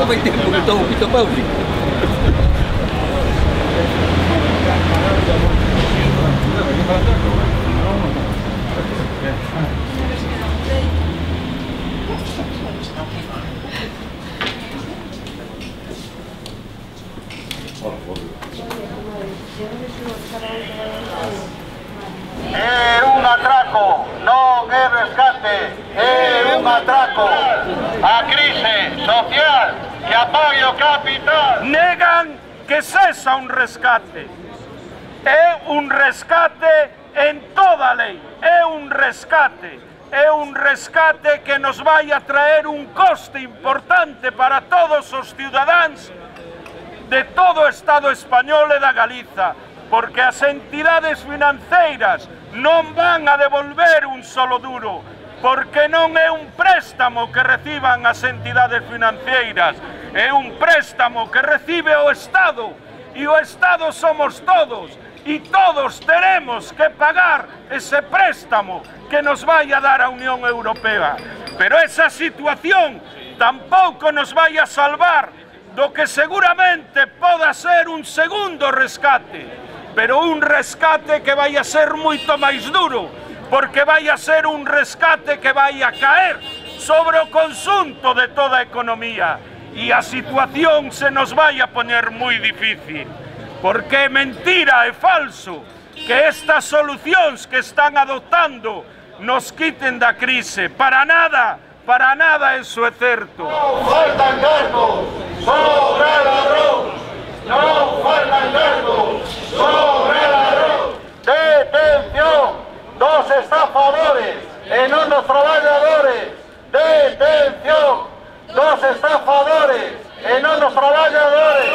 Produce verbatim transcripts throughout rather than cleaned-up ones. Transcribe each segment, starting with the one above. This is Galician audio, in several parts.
xa vai tempo que estou Pito Pausi. É un atraco, non é rescate, é un atraco. A crise social que apoia o capital. Negan que sexa un rescate. É un rescate en toda a lei. É un rescate. É un rescate que nos vai a traer un coste importante para todos os ciudadáns de todo o Estado español e da Galiza, porque as entidades financeiras non van a devolver un solo duro, porque non é un préstamo que reciban as entidades financeiras, é un préstamo que recibe o Estado, e o Estado somos todos, e todos teremos que pagar ese préstamo que nos vai a dar a Unión Europea. Pero esa situación tampouco nos vai a salvar do que seguramente poda ser un segundo rescate, pero un rescate que vai a ser moito máis duro, porque vai a ser un rescate que vai a caer sobre o conxunto de toda a economía, e a situación se nos vai a poñer moi difícil, porque é mentira, é falso que estas solucións que están adoptando nos quiten da crise. Para nada, para nada eso é certo. Non faltan cargos, sobra ladrón. Non faltan cargos, sobra ladrón. Detención dos estafadores e non dos traballadores. Detención dos estafadores e non dos traballadores.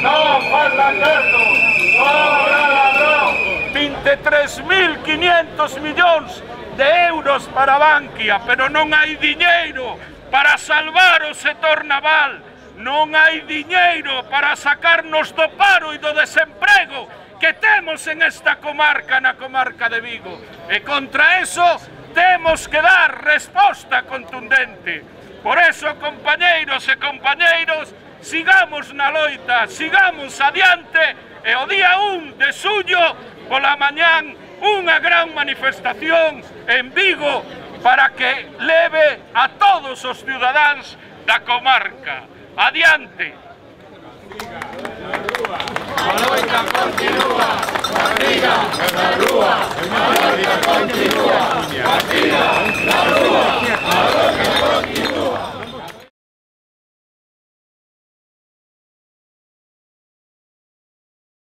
Non faltan cargos, sobra ladrón. vinte e tres mil quinientos millóns de euros para Bankia, pero non hai diñeiro para salvar o sector naval, non hai diñeiro para sacarnos do paro e do desemprego que temos en esta comarca, na comarca de Vigo. E contra eso temos que dar resposta contundente. Por eso, compañeiros e compañeiros, sigamos na loita, sigamos adiante, e o día un de xullo, pola mañán, unha gran manifestación en Vigo para que leve a todos os ciudadáns da comarca. Adiante! A loita continúa, a briga na rúa, a loita continúa.